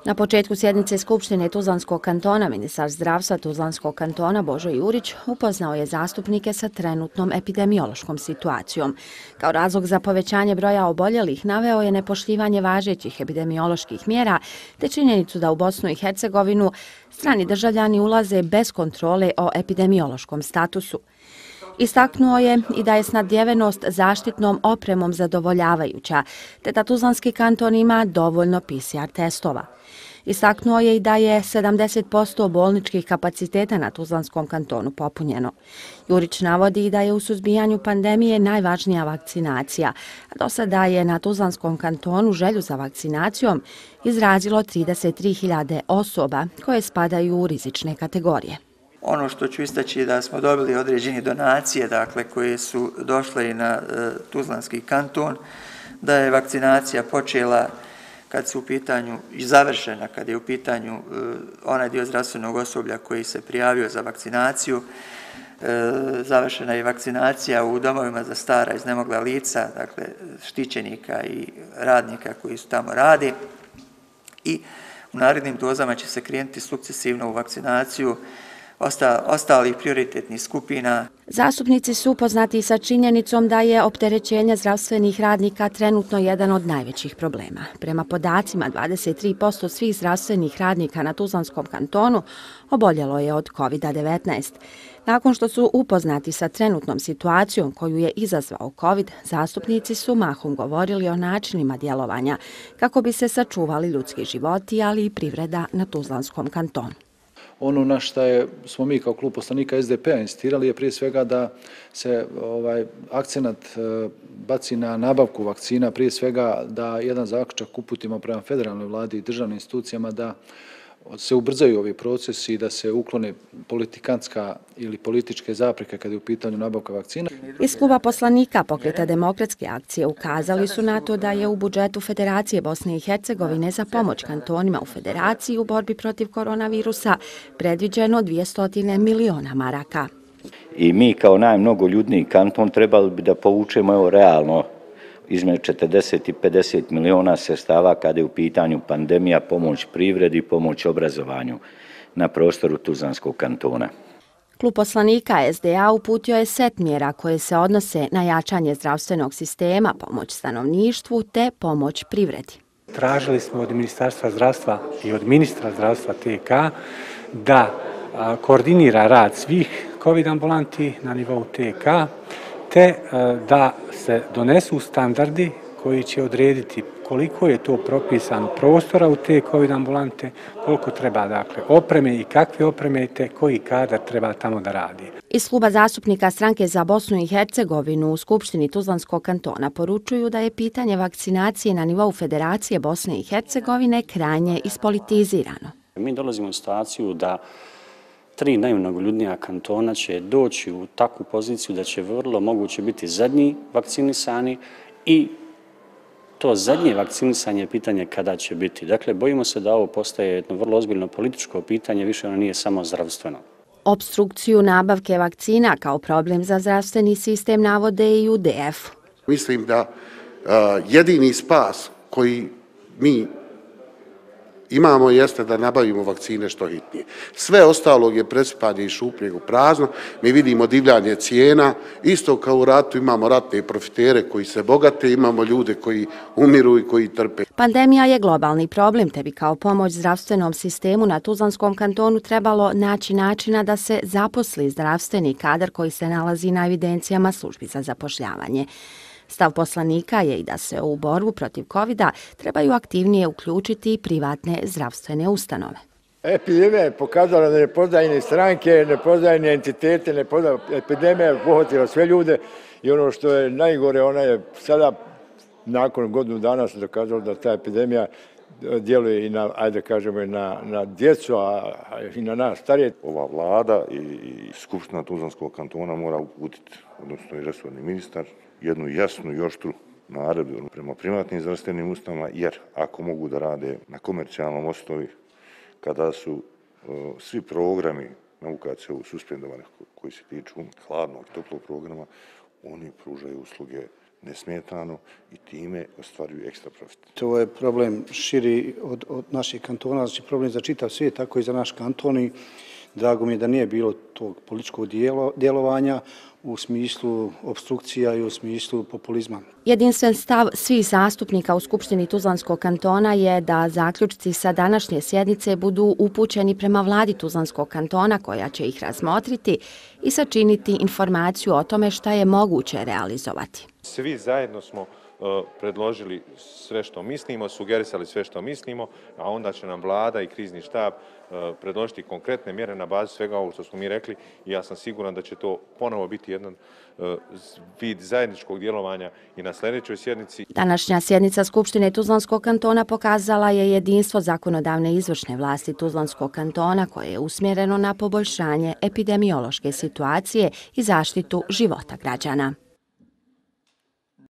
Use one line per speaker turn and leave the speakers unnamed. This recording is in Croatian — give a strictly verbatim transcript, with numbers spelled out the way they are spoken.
Na početku sjednice Skupštine Tuzlanskog kantona ministar zdravstva Tuzlanskog kantona Božo Jurić upoznao je zastupnike sa trenutnom epidemiološkom situacijom. Kao razlog za povećanje broja oboljelih naveo je nepoštivanje važećih epidemioloških mjera te činjenicu da u Bosnu i Hercegovinu strani državljani ulaze bez kontrole o epidemiološkom statusu. Istaknuo je i da je snabdjevenost zaštitnom opremom zadovoljavajuća, te da Tuzlanski kanton ima dovoljno P C R testova. Istaknuo je i da je sedamdeset posto bolničkih kapaciteta na Tuzlanskom kantonu popunjeno. Jurić navodi i da je u suzbijanju pandemije najvažnija vakcinacija, a do sada je na Tuzlanskom kantonu želju za vakcinacijom izrazilo trideset tri hiljade osoba koje spadaju u rizične kategorije.
Ono što ću istaći je da smo dobili određene donacije, dakle, koje su došle i na e, Tuzlanski kanton, da je vakcinacija počela kad su u pitanju i završena, kad je u pitanju e, onaj dio zdravstvenog osoblja koji se prijavio za vakcinaciju. E, završena je vakcinacija u domovima za stara iznemogla lica, dakle, štićenika i radnika koji su tamo radi. I u narednim dozama će se krenuti sukcesivno u vakcinaciju ostalih prioritetnih skupina.
Zastupnici su upoznati sa činjenicom da je opterećenje zdravstvenih radnika trenutno jedan od najvećih problema. Prema podacima, dvadeset tri posto svih zdravstvenih radnika na Tuzlanskom kantonu oboljelo je od kovid devetnaest. Nakon što su upoznati sa trenutnom situacijom koju je izazvao COVID, zastupnici su mahom govorili o načinima djelovanja kako bi se sačuvali ljudski životi, ali i privreda na Tuzlanskom kantonu.
Ono na što je, smo mi kao klub poslanika S D P-a insistirali je prije svega da se ovaj, akcenat e, baci na nabavku vakcina, prije svega da jedan zaključak uputimo prema federalnoj vladi i državnim institucijama da se ubrzaju ovi procesi i da se uklone politikantska ili političke zapreke kada je u pitanju nabavka vakcina.
Iz kluba poslanika Pokreta demokratske akcije ukazali su na to da je u budžetu Federacije Bosne i Hercegovine za pomoć kantonima u Federaciji u borbi protiv koronavirusa predviđeno dvjesto miliona maraka.
I mi kao najmnogoljudniji kanton trebali bi da povučemo evo realno između četrdeset i pedeset miliona sredstava kada je u pitanju pandemija, pomoć privredi, pomoć obrazovanju na prostoru Tuzlanskog kantona.
Klub poslanika S D A uputio je set mjera koje se odnose na jačanje zdravstvenog sistema, pomoć stanovništvu te pomoć privredi.
Tražili smo od Ministarstva zdravstva i od ministra zdravstva T K da koordinira rad svih COVID ambulanti na nivou T K, te da se donesu standardi koji će odrediti koliko je to propisano prostora u te COVID ambulante, koliko treba dakle opreme i kakve opreme te koji kadar treba tamo da radi.
Iz kluba zastupnika Stranke za Bosnu i Hercegovinu u Skupštini Tuzlanskog kantona poručuju da je pitanje vakcinacije na nivou Federacije Bosne i Hercegovine krajnje ispolitizirano.
Mi dolazimo u situaciju da tri najmnogoljudnija kantona će doći u takvu poziciju da će vrlo moguće biti zadnji vakcinisani i to zadnje vakcinisanje je pitanje kada će biti. Dakle, bojimo se da ovo postaje jedno vrlo ozbiljno političko pitanje, više ono nije samo zdravstveno.
Obstrukciju nabavke vakcina kao problem za zdravstveni sistem navode i u D F.
Mislim da uh, jedini spas koji mi imamo jeste da nabavimo vakcine što hitnije. Sve ostalog je presipanje iz šupljeg u prazno. Mi vidimo divljanje cijena. Isto kao u ratu imamo ratne profitere koji se bogate, imamo ljude koji umiru i koji trpe.
Pandemija je globalni problem, te bi kao pomoć zdravstvenom sistemu na Tuzlanskom kantonu trebalo naći načina da se zaposli zdravstveni kadar koji se nalazi na evidencijama službi za zapošljavanje. Stav poslanika je i da se u borbu protiv kovida trebaju aktivnije uključiti i privatne zdravstvene ustanove.
Epidemija je pokazala da ne poznaje ni stranke, ne poznaje ni entitete, ne poznaje. Epidemija je pohvatila sve ljude i ono što je najgore, ona je sada, nakon godinu dana se dokazalo da ta epidemija djeluje i na, ajde kažemo, na, na djecu, a i na nas starije.
Ova vlada i, i Skupština Tuzlanskog kantona mora uputiti, odnosno i resorni ministar, jednu jasnu i oštru naredbu prema privatnim zdravstvenim ustanovama, jer ako mogu da rade na komercijalnom osnovi, kada su uh, svi programi na U K C U suspendovani koji se tiču hladnog i toplog programa, oni pružaju usluge nesmetano i time ostvaruju ekstra profit.
To je problem širi od, od naših kantona, znači problem za čitav svijet, tako i za naš kanton i drago mi je da nije bilo tog političkog dijelo, djelovanja u smislu obstrukcija i u smislu populizma.
Jedinstven stav svih zastupnika u Skupštini Tuzlanskog kantona je da zaključci sa današnje sjednice budu upućeni prema vladi Tuzlanskog kantona koja će ih razmotriti i sačiniti informaciju o tome šta je moguće realizovati.
Svi zajedno smo predložili sve što mislimo, sugerisali sve što mislimo, a onda će nam vlada i krizni štab predložiti konkretne mjere na bazi svega ovo što smo mi rekli i ja sam siguran da će to ponovo biti jedan vid zajedničkog djelovanja i na sljedećoj sjednici.
Današnja sjednica Skupštine Tuzlanskog kantona pokazala je jedinstvo zakonodavne izvršne vlasti Tuzlanskog kantona koje je usmjereno na poboljšanje epidemiološke situacije i zaštitu života građana.